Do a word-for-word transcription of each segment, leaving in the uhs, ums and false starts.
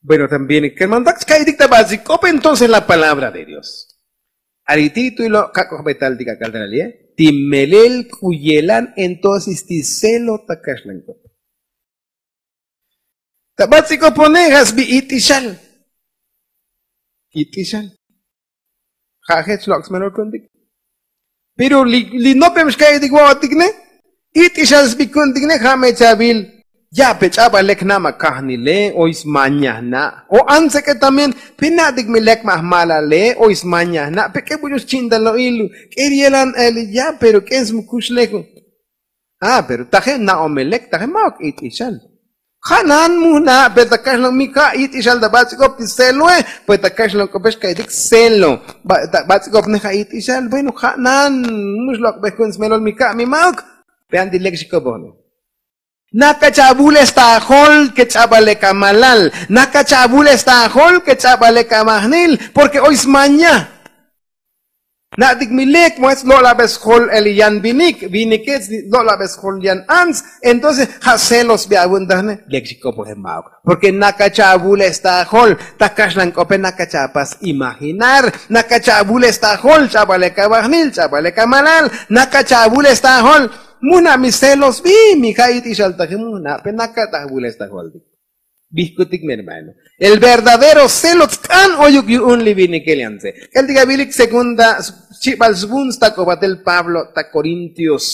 Bueno, también kermantak chka'iytik ta bats'ik'op entonces la palabra de dios. Ari ti' tu' ilo' kak'ojbetal ti k'ak'al tal ali e ti melel k'u yelan entonces ti celo ta kaxlank'op. Ta bats'ik'opone ja' sbi it'ixal. It'ixal. Ja' jech lok' smelol ku'untik. Pero li nopem xka'itik vo'otik ne it'ixal sbi ku'untik ne ja' me chavil. Ya'pe ch'abal lek jna' ma' kajnile oy smaña jna'. O antsek'e también pe na'tik mi lek ma' jmalale oy smaña jna' pe k'e buch'u schi'intal lo'il k'e ri yelan ali ya' pero k'e smukuxlejo. A pero taje' na'om me lek taje' ma'uk it'ixal. Ja' nan mu jna' pero ta kaxlon mi ja' it'ixal ta bats'ik'op ti celoe. Pues ta kaxlon k'opex ka'itik celo. Ta bats'ik'op ne ja' it'ixal bueno ja' nan. Mu xlok'bej ku'un smelol mi ja' mi ma'uk. Pe anti lek xik'opoj ne. Naka chavules ta jol ke ch'abal lek amalal. Naka chavules ta jol ke ch'abal lek amajnil. Porke oy smaña. Na'tik mi lek mo jech lo'labes jol el yan vinik vinike lo'labes jol yan ants. Entonces ja' celos bi avun tajne lek xik'opoje ma'uk. Porke naka chavules ta jol ta kaxlan k'ope naka chapas imaginar. Naka chavules ta jol ch'abal lek avajnil ch'abal lek amalal. Naka chavules ta jol. Mu jna' mi celos bi mi ja' it'ixal taji mu jna' pe naka ta jvules ta jol ti. Bijkutik mi hermano. El verdadero celo tsk'an oyuk yu'un li vinikel yantse k'eltik avilik segunda. Chibal svun stak'obatel pablo ta korintios.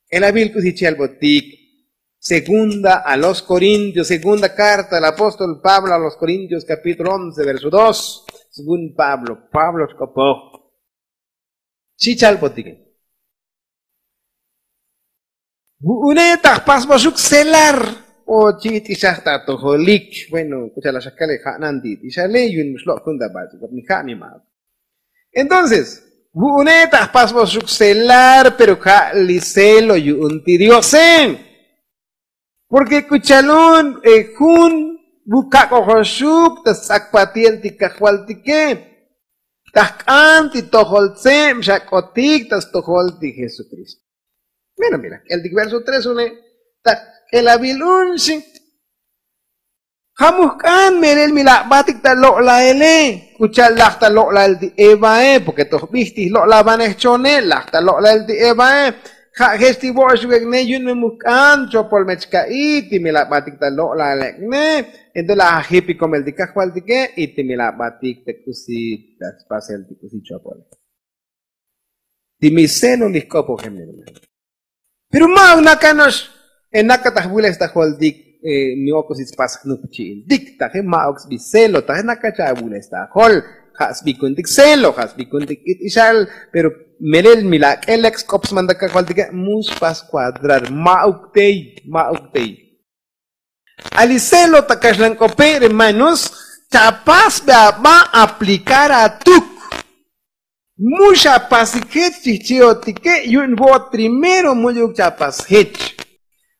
K'el avil k'usi chi albotik. Segunda a los korintios segunda karta al apóstol pablo a los korintios kapítulo once verso dos. Svun pablo pablo xk'opoj. Chi chalbotike. Vu'une ta jpasboxuk celar. O chi it'ixaj ta tojolik bueno k'u cha'al axakale ja' nan ti it'ixale yu'un xlok' jun ta bats'ik'op mi ja' mi ma'uk. Entonces vu'une ta jpasboxuk celar pero ja' li celo yu'un ti diose. Porke k'u chalun jun vukak'ojoxuk ta stz'akpatiel ti kajvaltike. Ta jk'an ti tojol tseb xak'otik ta stojol ti jesukristo. Mira mira k'eltik verso tres une. Ta k'elavil un xi. Ja' mujk'an melel mi la batik ta lo'laele. K'u cha'al laj ta lo'lael ti evae porke toj bij ti jlo'lavanej chone laj ta lo'lael ti evae. Ja' jech ti vo'ox vek'ne yu'un me mujk'an chopol me chka'i ti mi la batik ta lo'laelek'ne. Entonces laj ajip ikomel ti kajvaltike y ti mi la batik ta k'usi ta spasel ti k'usi chopole. Ti mi celo li jk'opojem hermano. Pero ma'uk nakano'ox. Enaka ta jvules ta joltik. Mi ok'usi tspas jnuk chi'iltik taje ma'uk sbi celo taje naka chavules ta jol. Ja' sbikuntik celo ja' sbikuntik it'ixal. Pero melel mi la k'elek sk'op sman ta kajvaltike mu spas kuadrar ma'uk tey ma'uk tey. Ali celo ta kaxlan k'ope' ri manos. Chapas be aba' aplikar atuk. Mu xapas jech chijchi'otike' yu'un vo'ot primero mu'yuk chapas jech.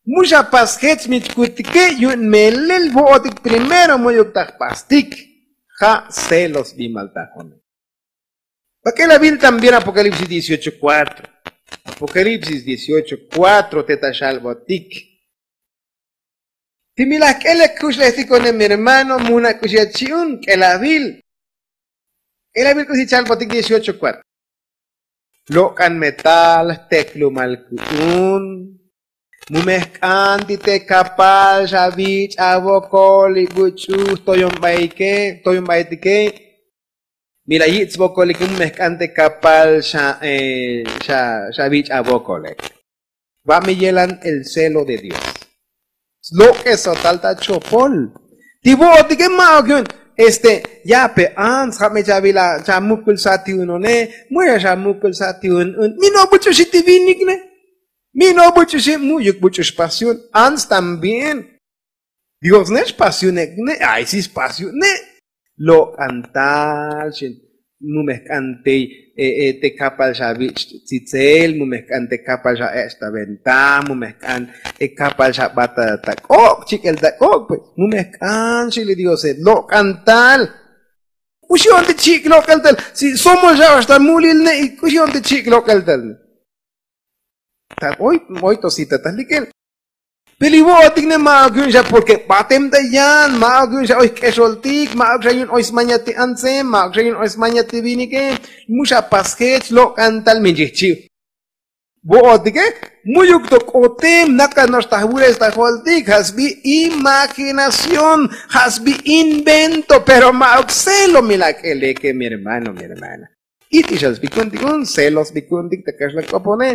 Mu xapas jech mi chkutike' yu'un melel vo'otik primero mu'yuk ta jpastik. Ja' celos bimal ta jone. Pak'el avil también apokalipsis dieciocho kuatro. Apokalipsis dieciocho kuatro te ta xalbotik. Ti mi laj k'elek kuxlejtik one mi hermano mu na' k'uxi achi'un k'el avil. K'el avil k'usi chalbotik dieciocho kuatro. Lok'an metal jteklumal ku'un. Mu me jk'an ti te kapal xavich' avokol li buch'u jtoyonbaike jtoyonbaitike. Mi la yich' svokolik mu me jk'an te kapal xa xa xa vich' avokole. Va' mi yelan el celo de dios. Slok'esotal ta chopol. Ti vo'otike ma'uk yu'un. Este ya' pe ants ja' me chavila' chamukulsa ti unone. Mu ya' xamukulsa ti un un mi no' buch'uxi ti vinik ne. Mi no' buch'uxi mu'yuk buch'u xpas yu'un ants también. Dios ne' xpas yu'un ek' ne' ay si spas yu'un ne'. Lok'antal xi. Mu me jk'an tey te kapal xa vich' tzitzel mu me jk'an te kapal xa ech' ta venta mu me jk'an te kapal xa bat ta k'ok' chik'el ta k'ok' pues mu me jk'an xi li diose lok'antal. K'uxi on te chik' lok'el tal si somol xa ox ta mulil ne' y k'uxi on te chik' lok'el tal. Ta oy oy to sita ta lik'el. Te li vo'otik ne ma'uk yu'un xa porke batem ta yan, ma'uk yu'un xa oy jk'exoltik, ma'uk xa yu'un oy smaña ti antse, ma'uk xa yu'un oy smaña ti vinike. Mu xa pas jech lok'an tal min chijchi'. Vo'otike mu'yuk to k'otem, nakan no'ox ta jvules ta joltik ja' sbi imaginación, ja' sbi invento. Pero ma'uk celo mi lak'eleke mi hermano mi hermana. It'ixal sbi ku'untik un celo sbi ku'untik ta kaxlan k'opone.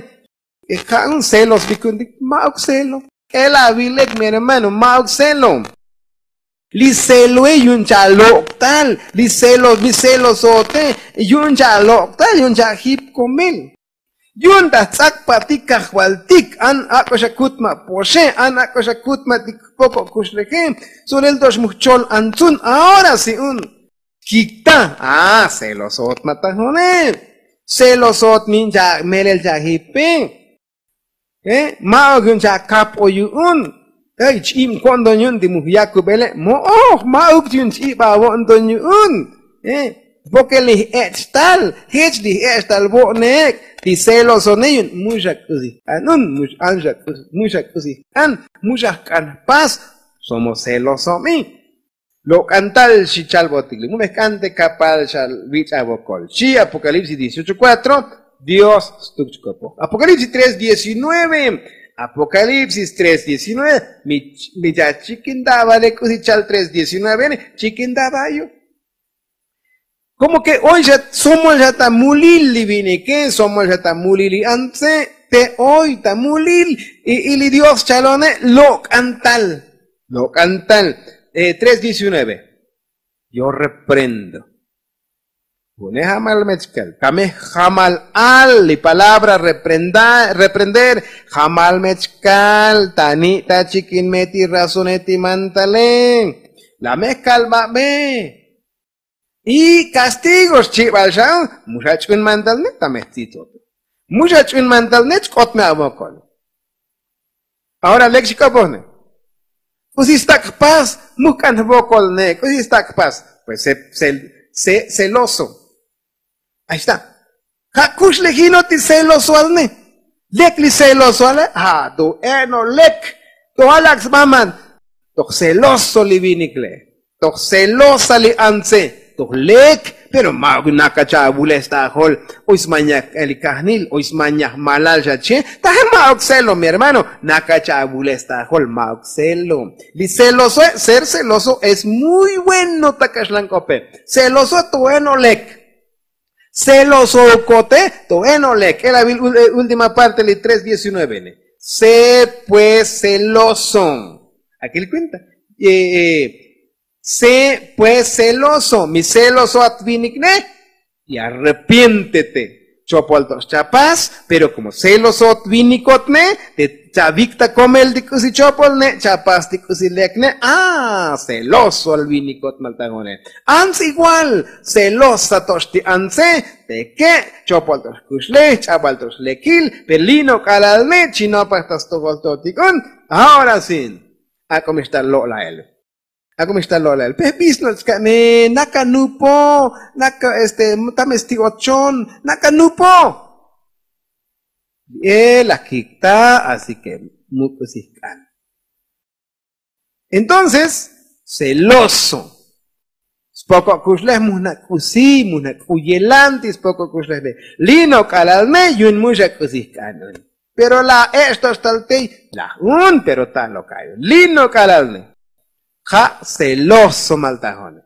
Ja' un celo sbi ku'untik ma'uk celo. K'elavilek mi hermano ma'uk celo. Li celoe yu'un cha' lok'tal. Li celo mi celosote yu'un cha' lok'tal yu'un cha' jip komel. Yu'un ta jtz'akpatik kajvaltik an ak'o xa kutma' poxe an ak'o xa kutmatik jpoko' kuxleje. Tsulel to'ox mu jchol antsun ahora si un. Kikta a celosot ma ta jone. Celosot min cha' melel cha' jipe. Ma'uk yu'un cha' kap o yu'un. Ch'ib ko'nton yu'un ti mu jyakubele mo'oj ma'uk yu'un ch'ib avo'nton yu'un. Porke li j'ech' tal jech li j'ech' tal vo'neek. Ti celosone yu'un mu xa k'usi jk'an un, mu xa k'usi jk'an, mu xa jk'an jpas. Somos celosomi. Lok'an tal xi chalbotik li mu me jk'an te kapal xa vich'a vokol xi apokalipsis dieciocho kuatro. Dios stuk chkopoj apokalipsis tres diecinueve. Apokalipsis tres diecinueve. Mi cha' chikin daba le k'usi chal tres diecinueve ne chikin daba yu'. Komo ke oy xa somol xa ta mulil li vinike somol xa ta mulil li antse. Te oy ta mulil. Y li dios chalone lok'an tal. Lok'an tal. Tres diecinueve. Yo reprendo. Pune jamal mechkal kame jamal al li palabra reprender. Jamal mechkal ta ni' ta chikin me ti razone ti mantale. La mejkal babe. Y kastigo xchibal xa. Mu xa ch'un mantal ne ta mejtzitzoto. Mu xa ch'un mantal ne chk'ot me avokol. Ahora lek xik'opoj ne. K'usi stak' jpas. Mu jk'an jvokol ne k'usi stak' jpas. Pues se celoso. Ahí está. Ja' kuxlejino ti celosoal ne. Lek li celosoale ja' to eno' lek. To alak' sbaman. Toj celoso li vinik le'. Toj celosa li antse. Toj lek. Pero ma'uk naka' cha' avules ta ajol. Oy smañaj k'el li kajnil oy smañaj malal xa che. Taje ma'uk celo mi hermano. Naka' cha' avules ta ajol ma'uk celo. Li celosoe ser celoso es muy bueno ta kaxlan k'ope. Celoso to eno' lek. Celoso kote to eno' lek k'el avil. Última parte li tres diecinueve ne. Se pues celoso. Akil kuenta. Se pues celoso mi celoso at vinik ne. Y arrepiéntete. Chopol to'ox chapas. Pero komo celoso at vinikot ne te chavik ta komel ti k'usi chopol ne' chapas ti k'usi lek ne'. Celoso al vinikot mal ta jone'. Antz igual. Celosa to'ox ti antze. Teke' chopol to'ox kuxlej ch'abal to'ox lekil. Pero li' nok'alal ne' chinopaj ta stojol to'otik un. Ahora si. Ak'o mixta lo'lael. Ak'o mixta lo'lael pe jbisnol chka'ne. Naka nupo. Naka este tame sti ochon. Naka nupo. Li e laj kikta. Así ke mu k'usi jk'an. Entonces celoso. Spoko' kuxlej mu jna' k'usi mu jna' k'u yelanti spoko' kuxlej le. Li' nok'alal ne' yu'un mu xa k'usi jk'an un. Pero la ech' to'ox tal tey laj un pero ta' loka'yo li' nok'alal ne'. Ja' celoso mal ta jone'.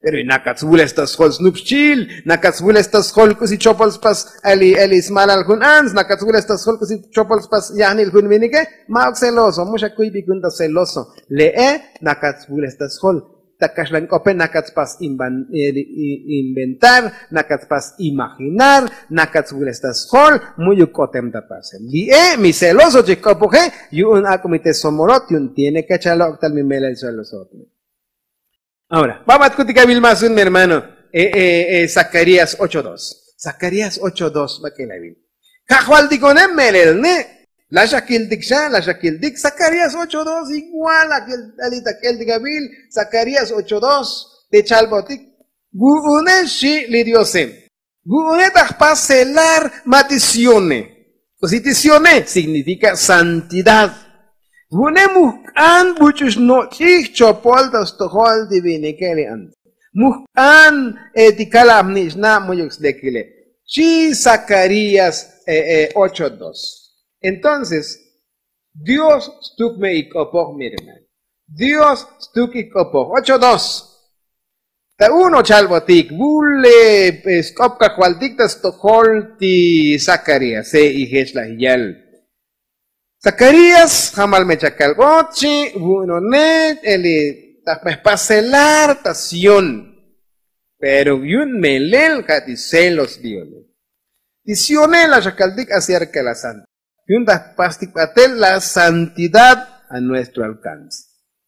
Pero y nakat svules ta sjol snup xchil. Nakat svules ta sjol k'usi chopol spas. Eli smalal jun antz nakat svules ta sjol k'usi chopol spas yajnil jun vinike. Ma'uk celoso mu xa kuybik jun ta celoso. Le'e nakat svules ta sjol. Ta kaxlan k'ope nakat spas inventar. Nakat spas imaginar. Nakat svules ta sjol. Mu'yuk k'otem ta pasel li'e mi celoso chijk'opoje. Yu'un ak'o mi te somolot yu'un tiene ke cha lok'tal mi melel celosot. Ahora babat kutik avil mas un mi hermano. Zacarías ocho dos. Zacarías ocho dos bak'el avil. Kajvaltikone' melel ne'. Laxakiltik xa laxakiltik zacarías ocho dos igual. Alit ak'eltik avil zacarías ocho dos. Te chalbotik. Vu'une' xi' li diose. Vu'une' ta jpas celar ma ti sione. K'usi ti sione significa santidad. Vu'une mujk'an buch'u xnoch'ij chopol ta stojol ti vinike li ant. Mujk'an e ti kalab nich'na mu'yuk slekile. Xchi Zacarías e e ocho dos. Entonces dios stuk me ik'opoj mi hermano. Dios stuk ik'opoj ocho dos. Ta uno chalbotik vule sk'op kajvaltik ta stojol ti zacaríase. Ijech laj yal zacarías jamal me chakalbot chi vu'unone. Eli ta jpasel lar ta sión. Pero yu'un melel ja' ti celos dione. Ti sione la xakaltik acerka la santa. Yu'un ta jpastik batel la santidad a nuestro alcance.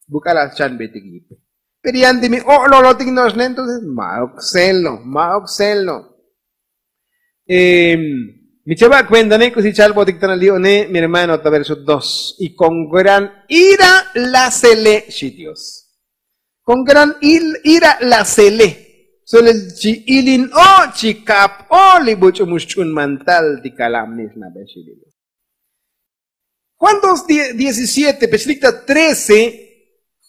Buk'a la schanbetik yipe. Pero yan ti mi o'lolotik no'oxne entonces ma'uk celo ma'uk celo. Mi chava' cuentane k'usi chalbotik tana li one mi hermano ta verso dos y con gran ira la cele xi dios. Con gran ira la cele. Solel chi ilin o' chi kap o' li buch'u mu xch'un mantal ti kalab nixnabe xi li dios. Juan dos diecisiete pech likta trece.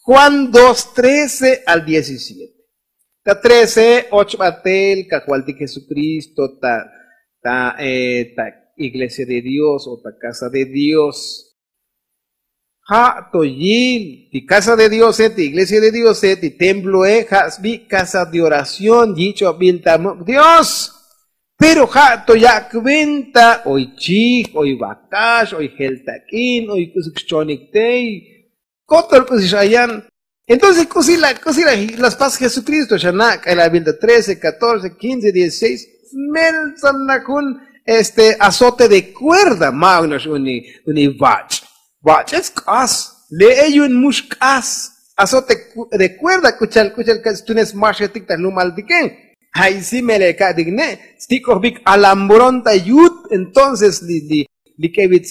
Juan dos trece al diecisiete. Ta trece och batel kajvaltik jesukristo ta ta iglesia de dios o ta casa de dios. Ja' to yil ti casa de diose ti iglesia de diose ti temploe ja' sbi' casa de oración yich'obil ta muk' dios. Pero ja' to ya' cuenta oy chij oy vakax oy jel tak'in oy k'usuk xchonik tey. Kotol k'usi xayan. Entonces k'usi la k'usi la spas jesukristo xana' k'elabil ta trece catorce quince dieciseis. Smeltsan na jun este azote de cuerda ma'uk no'ox uni uni vach'. Vach'etz k'as le'e yu'un mux k'as. Azote de cuerda k'uchal k'uchal ka' stunes maxetik ta jlumaltike. Ja'i si melel ka'tik ne' stik'ojbik alambrón ta yut. Entonces li li li k'evit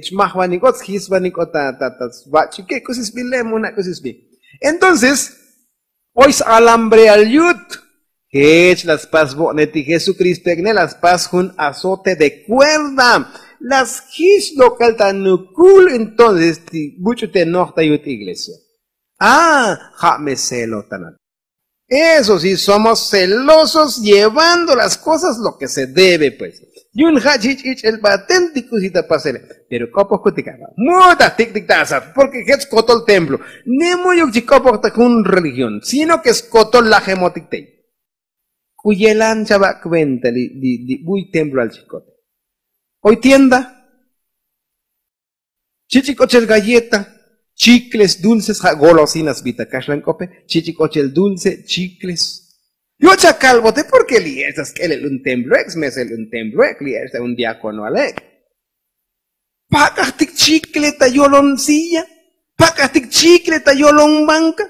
chmajvanik o tsjisvanik o ta ta ta svach'ike k'usi sbi le' muna' k'usi sbi. Entonces oy s-alambreal yut. Jech la spas vo'ne ti jesukristo ek'ne la spas jun azote de cuerda. La sjich lok'el ta nukul entonces ti buch'u te noj ta yut iglesia. A ja' me celo tana. Eso si somos celosos llevando las cosas lo ke se debe pues. Yu'un ja' chich' ich'el batel ti k'usi ta pasele. Pero k'opoj kutik a' mutaj tik'tik ta asat porke jech skotol templo. Ni mu'yuk chi k'opoj ta jun religión sino ke skotol lajemotik tey. K'u yelan chava' cuenta li li buy temploal chi kot. Oy tienda. Chich'ik ochel galleta chicles dulces ja' golosinas bi ta kaxlan k'ope. Chich'ik ochel dulce chicles. Yo' chakalbote porke li ech ta sk'elel un templo ek' smesel un templo ek' li ech ta un diakonoal ek'. Pak'ajtik chicle ta yolon silla. Pak'ajtik chicle ta yolon banka.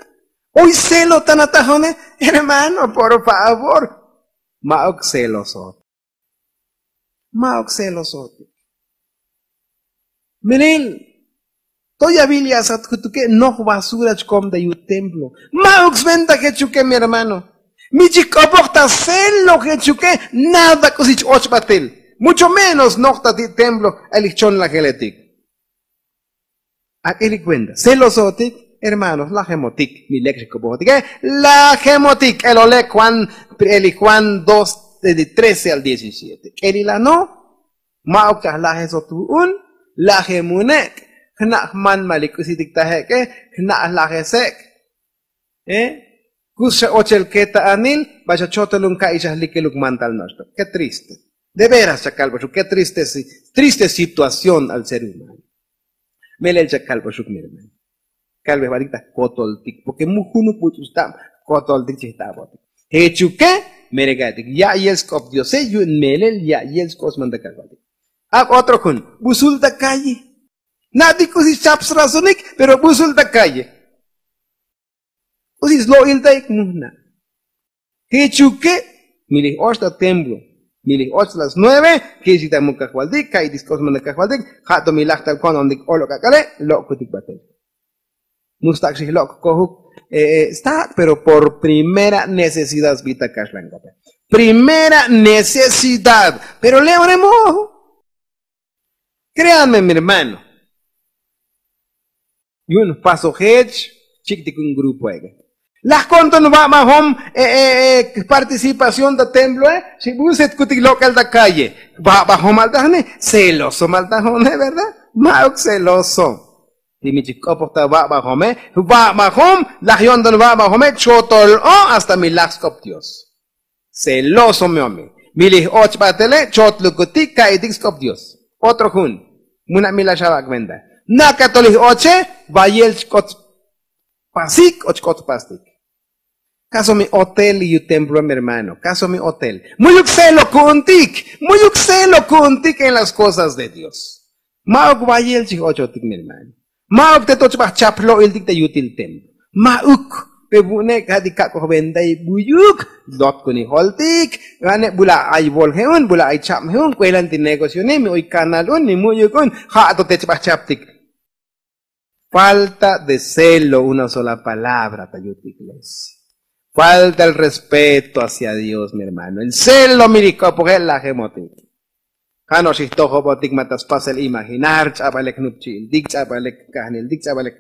Oy celo tan atajone. Hermano por favor. Ma'uk celosotik. Ma'uk celosotik. Melel toy aviliasat jutuke' noj basura chkom ta yut templo. Ma'uk sventa jechuke' mi hermano. Mi chik'opoj ta celo jechuke'. Nada k'usi ch-och batel. Mucho menos noj ta ti' templo. Ay li jchonlajeletik. Ak'eli kuenta celosotik. Hermanos lajemotik mi lek' xik'opojotike. Lajemotik k'elole' juan. Eli juan dos trece al diecisiete k'eli la no. Ma'uk ta jlajesot vu'un. Lajemunek'. Jna' jman ma li k'usitik ta jek'e. Jna' jlajesek'. Kus xa ochel keta'anil. Ba xa chotolun ka'i xa jlikeluk mantal noxtok ke triste. De veras xa kalboxuk ke triste. Triste situación al ser humano. Melel xa kalboxuk mi hermano. Kalbej batik ta jkotoltik porke mu junuk buch'u xtab jkotoltik chi jtabotik. Jechuke' melel ka'tik ya'yel sk'op diose yu'un melel ya'yel sk'op smantakalbatik. Ak' otro jun busul ta kalle. Na'tik k'usi xchap srazonik pero busul ta kalle. K'usi slo'il ta ik' mujna'. Jechuke' mi lij och ta templo. Mi lij och las nueve. Kixik ta muk kajvaltik ka'itik sk'op smantak kajvaltik. Ja' to mi laj tal ko'nontik olok ak'ale. Lo'kutik batel. Mu stak' xij lok' kojuk stak' pero por primera necesidad sbi ta kaxlan k'ope. Primera necesidad. Pero le'one mojo. Kreanme mi hermano. Yu'un jpasojech chik'tik jun grupoe'. Laj konton va'bajom participación ta temploe, xi busetkutik lok'el ta calle. Va'bajomal ta jne, celosomal ta june, verdad? Ma'uk celoso. Ti mi chijk'opoj ta va'bajome, va'bajom laj yo'nton va'bajome chotol o hasta mi laj sk'op dios. Celoso mi omi. Mi lij och b'atele chotlukutik ka'itik sk'op dios. Otro jun. Muna' mi laj xab'ak venta. Nakatol lij oche, vayel chk'ot pasik o chk'ot pastik. Kaso mi otel li yu templo mi hermano, kaso mi otel. Mu'yuk celo ku'untik, mu'yuk celo ku'untik en las kosas de dios. Ma'uk vayel chij ochotik mi hermano. Ma'uk te to chb'aj chaplo'iltik te yutil templo. Ma'uk. Pe vu'une' ka'tik kak'oj ventai buyuk. Lotkunijoltik. Gane bula ay vol je'un bula ay chab je'un k'uelan ti negocione mi oy kanal un mi mu'yuk un. Ja' to te chb'aj chaptik. Falta de celo una sola palabra ta yut iglesia. Falta el respeto hacia dios mi hermano el celo mi lij k'opoje' lajemotik. Ja' no'ox ijtojobotik ma ta spasel imaginar ch'ab'alek jnupchi'iltik ch'ab'alek kajniltik ch'ab'alek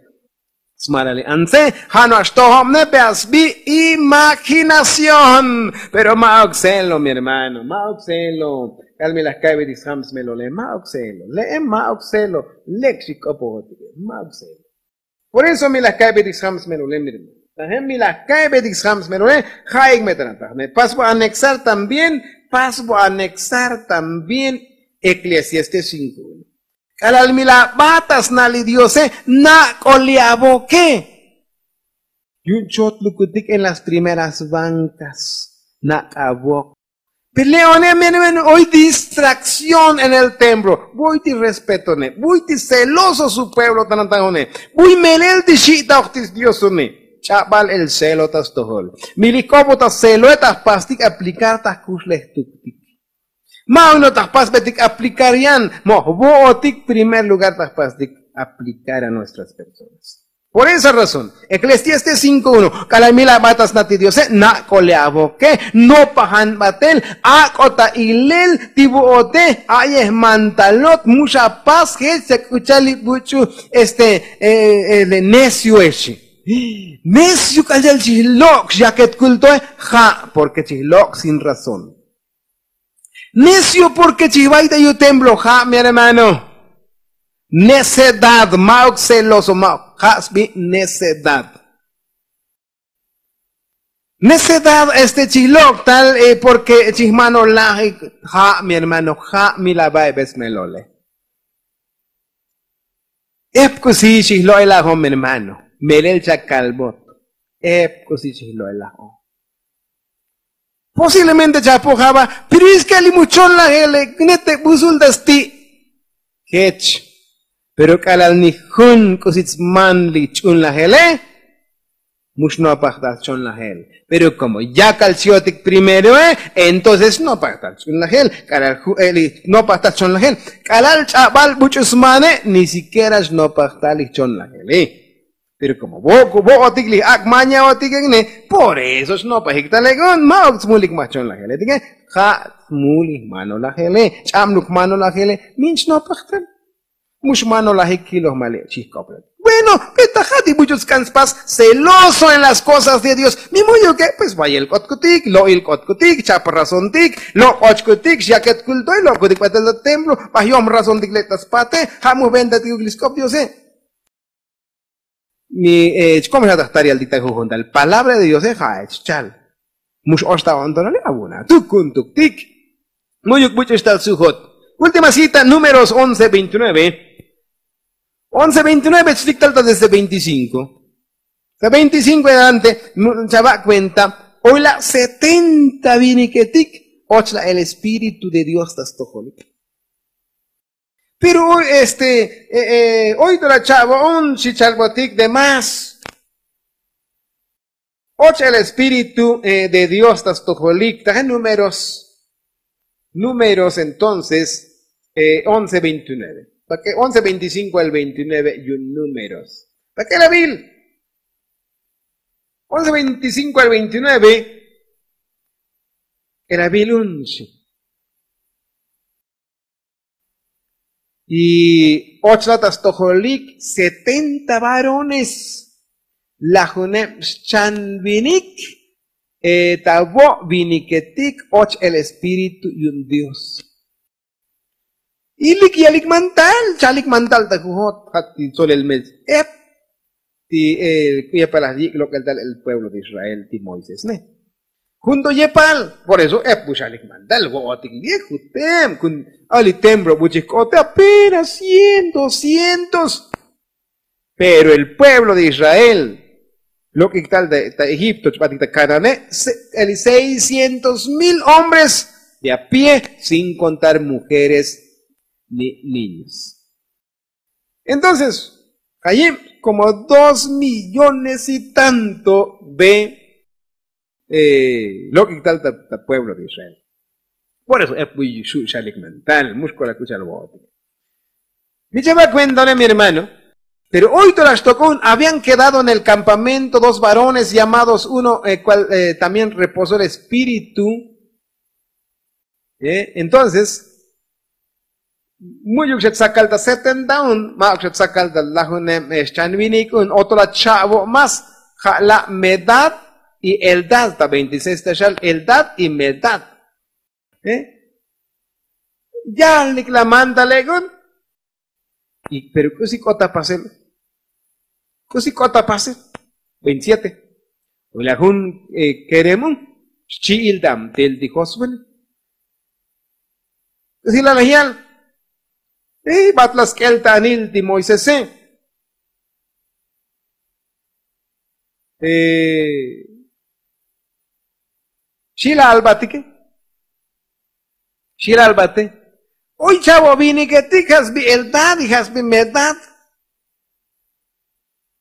smalali antse. Ja' no'ox tojobne pe asbi imaginación. Pero ma'uk celo mi hermano ma'uk celo. K'al mi laj ka'ib'etik sjam smelole ma'uk celo le'e ma'uk celo. Lek xik'opojotike ma'uk celo. Por eso mi laj ka'ib'etik sjam smelole mi hermano. Tajem mi laj ka'ib'etik sjam smelole. Ja'ik me ta nataj ne pasbo anexar también. Pasbo anexar también. Eklesiastes cinko uno. K'alal mi la b'at ta sna' li diose. Nak'o li avoke. Yu'un chotlukutik en las primeras bankas. Nak'avok. Peleone mi hermano oy distrakción en el templo. Buy ti respetone buy ti celoso su pueblo tanantajone. Buy melel ti xi'taoj ti sdiosone. Ch'ab'al el celo ta stojol. Mi lij k'opoj ta celoe ta jpastik aplicar ta jkuxlejtuktik. Ma'uk no ta jpasb'etik aplicar yan. Mo' jvo'otik primer lugar ta jpastik aplicar a nuestras personas. Por esa razón eklesiastes cinko uno. K'alal mi la b'at ta sna' ti diose nak'o li avoke. Nopajan b'atel. Ak'o ta ilel ti vo'ote. A'yej mantalot mu xa pas jech ta k'u chal li buch'u este necio echi. Necio k'al chal chij lok' xyaket kultoe. Ja' porke chij lok' sin razón. Necio porke chij vay ta yu templo ja' mi hermano. Necedad ma'uk celoso ma'uk ja' sbi necedad. Necedad este chij lok' tal porke chij mano lajik. Ja' mi hermano ja' mi la va'ib'es melole. Ep k'usi xij lo'elajom hermano. Melel chakalbot. Ep k'usi xij lo'elajom. Posiblemente chapojaba. Pero es ke li muchon lajele nete busul ta sti'. Jech. Pero k'alal ni jun k'usi tsman li ch'un lajele. Mux nopaj ta chon lajel. Pero komo yakal chiotik primeroe entonces xnopaj ta ch'un lajel. K'alal ju'e' li nopaj ta chon lajel. K'alal ch'ab'al buch'u smane ni sikiera xnopaj ta li chon lajele. Pero komo vo'otik li ak' mañaotik ek'ne. Por eso xnopajik ta lek'un ma'uk tsmulik ma chon lajele tike. Ja' tsmulik mano lajele. Ch'ab'luk mano lajele. Min xnopaj ta. Mux mano lajik kiloj male' chij k'oplal. Bueno. Pe ta ja' ti buch'u tsk'an spas celoso en las kosas de dios. Mi mu'yuke pues vayel k'otkutik lo'il k'otkutik chap razontik. Lok'ochkutik xyaket kultoy lo'kutik b'atel ta templo. B'aj yom razontik lek ta spate. Ja' mu jventatik uk li sk'op diose. Mi chkom xa ta jtarial tik ta jujun tal palabra de diose ja'ech chal. Mux ox ta o'ntonale avuna tukuntuk tik. Mu'yuk buch'u xtal sujot. Última cita números once veintinueve. Once veintinueve chlik tal ta desde veinticinko. Ta veinticinko en adelante. Chava' kuenta oy la' setenta viniketik. Och la el espíritu de dios ta stojolik. Pero este oy to la cha'vo'on xi chalbotik de más. Och el espíritu de dios ta stojolik taje números. Números entonces once veintinueve. Pake once veinticinko al veintinueve yu números. Pake la vil once veinticinko al veintinueve. Era vil un xi. Y Och la ta stojolik setenta varones lajuneb xchan vinik. Ta vo' viniketik och el espíritu yu'un dios. Y lik yalik mantal chalik mantal ta jujot ja' ti tsolel mes ep ti k'u yepal laj yik' lok'el tal el pueblo de israel ti moisés ne. Jun to yepal por eso ep bu xalik mantal vo'otik li' jutem kun ali templo bu chij k'ote apenas cien doscientos. Pero el pueblo de israel lok'ik tal ta egipto chb'atik ta kanane' seiscientos mil hombres de a pie sin kontar mujeres ni niños. Entonces jayib komo dos millones y tanto ve lok'ik tal ta pueblo de israel. Por eso ep buy xu' xalik mantal mux kolak k'u chal vo'otik. Mi chaba' kuenta one mi hermano. Pero hoy to la xtok'un habían kedado en el kampamento dos varones llamados uno el kual también reposó el espíritu. Entonces mu'yuk xa tsakal ta setenta un ma'uk xa tsakal ta lajuneb xchan vinik un oto la cha'vo' más. Ja' la' medad y eldad ta veintiseis ta xal eldad y medad. Yalik la mantale'k'un. Pero k'usi k'ot ta pasel? K'usi k'ot ta pasel? Veintisiete. Ula jun kerem un xchi'il ta amtel ti josbel. K'usi la laj yal? Bat la sk'el ta anil ti moisese'. Xi la albatike. Xi la albate. Oy chavo viniketik ja' sbi eldad y ja' sbi medad.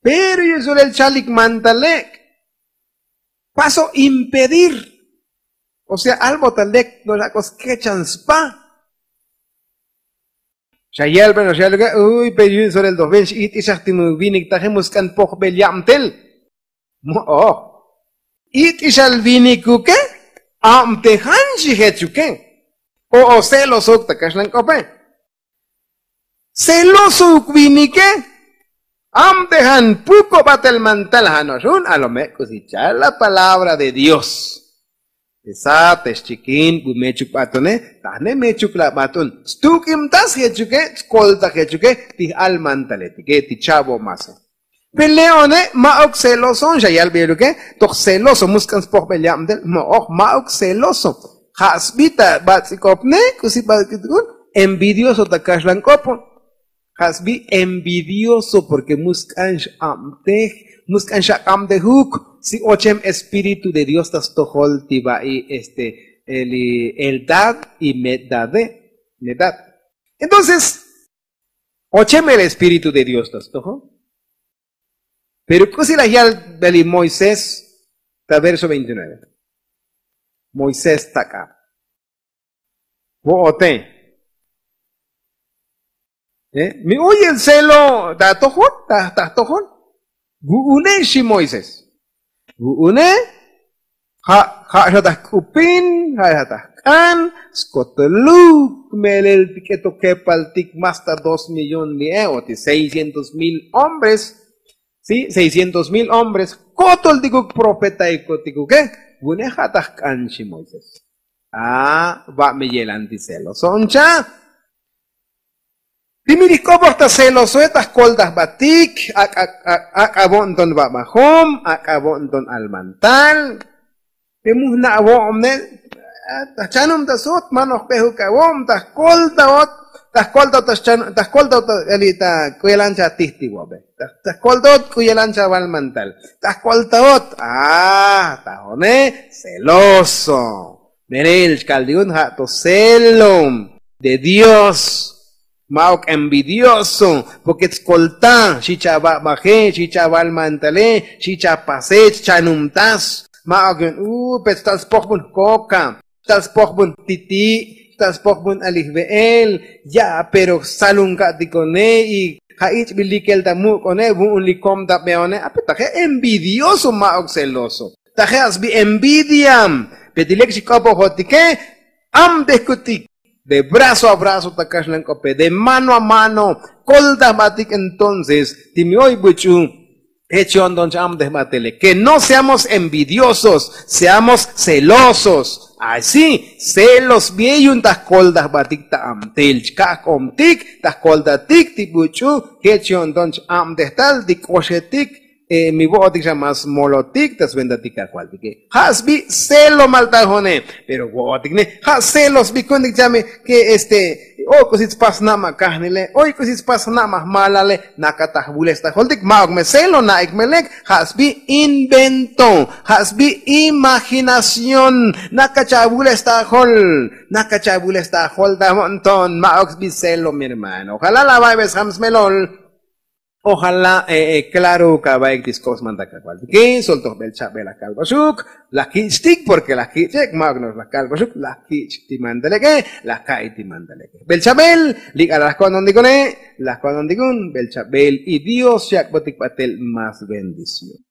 Pero yu'un solel chalik mantalek' paso impedir. O sea albo ta lek no la k'o skechan spa. Xa yelben ox yaluk e uy pero yu'un sorel doj ven x'it'ixaj ti mu vinik taje mu sk'an pojbel yabtel. Mo'oj. It'ixal vinikuke. Abtejan xi jechuke. O o celosouk ta kaxlan k'ope. Celosouk vinike. Abtejan puko' batel mantal jano'ox jun alome' k'usi chal la palabra de dios. Esa te xchikin bu mechuk b'atune. Tajne mechuk la b'atun stuk'imtas jechuke. Skoltaj jechuke ti j'al mantaletike ti cha'bo' mase. Pe le'one ma'uk celoson xa yalb'iluke. Toj celoso musk'an spojb'el yab'tel mo'oj ma'uk celoso. Ja' sb'i ta b'atz'ikopne k'usi b'atz'ikopne envidioso ta kaxlan k'opon. Ja' sb'i envidioso porke mu sk'an x'abtej. Mu sk'an xak'abtejuk. Si ochem espíritu de dios ta stojol ti ba'i este eldad y medade. Medad. Entonces ochem el espíritu de dios ta stojol. Pero k'usi laj yal beli moisés ta verso veintinueve. Moisés tak'a. Vo'ote. Mi uy el celo ta atojol ta atojol. Vu'une xi moisés. Vu'une. Ja' ja' xa ta jk'upin ja' xa ta jk'an. Skotoluk melel ti k'eto kepaltik más ta dos millón li'e o ti seiscientos mil hombres. Si seiscientos mil hombres kotol tikuk profeta ikotikuke. Vu'une ja' ta jk'an xi moisés. A va' me yelan ti celoso oncha. Ti mi lijk'oboj ta celosoe ta jkoltaj batik. Ak'abo' nton babajom ak'abo' nton almantal. Pe mu jna' vo'omne. Ta jchanum ta sot manoj pejuk avo'om ta jkoltaot. Ta jkoltaot ta jkoltaot ta k'u yelan cha tij ti vo'be. Ta jkoltaot k'u yelan cha val mantal. Ta jkoltaot a ta jone celoso. Merel chkal ti jun ja' to celo de dios. Ma'uk envidioso. Porke tskolta xi cha babaje xi cha val mantale xi cha pase ch chanumtas. Ma'uk yu'un u pech tal spojbun jkoka tal spojbun titi' tal spojbun alijve'el. Ya' pero salun ka'tikone y ja' ich'bil likel ta muk'one vu'un likom ta beone ape taje envidioso ma'uk celoso. Taje a sbi envidia. Pe ti lek xik'opojotike. Abtejkutik de brazo a brazo ta kaxlan k'ope de mano a mano. koltajbatik entonces ti mi oy buch'u. Jech yo'nton cha'amtejbatele ke no seamos envidiosos, seamos celosos. Así celos bie yu'un ta jkoltajbatik ta amtel chka'k'obtik ta jkoltatik ti buch'u. Jech yo'nton ch'abtej tal ti k'oxetik. Mi vo'otik xa mas molotik ta sventatik kajvaltike. Ja' sbi celo maltajone. Pero vo'otik ne ja' celo sbi ku'untik chame ke este oy k'usi tspas na'ma kajnile, oy k'usi tspas na'ma jmalale. Naka ta jvules ta joltik ma'uk me celo na'ik me lek. Ja' sbi invento, ja' sbi imaginación. Naka cha vules ta jol, naka cha vules ta jol ta mo'nton ma'uk sbi celo mi hermano. Ojalá la vayves jam smelol. Ojalá klaro kava'ik ti sk'op sman ta kajvaltike. Soltoj bel chabel la kalbaxuk la kich'tik porke la kich'ek ma'uk no'ox la kalbaxuk la kich' ti mantaleke. La ka'i ti mantaleke bel chabel. Lik'ala la ko'nton tikone. La ko'nton tikun bel chabel y dios xyak'botik batel mas bendición.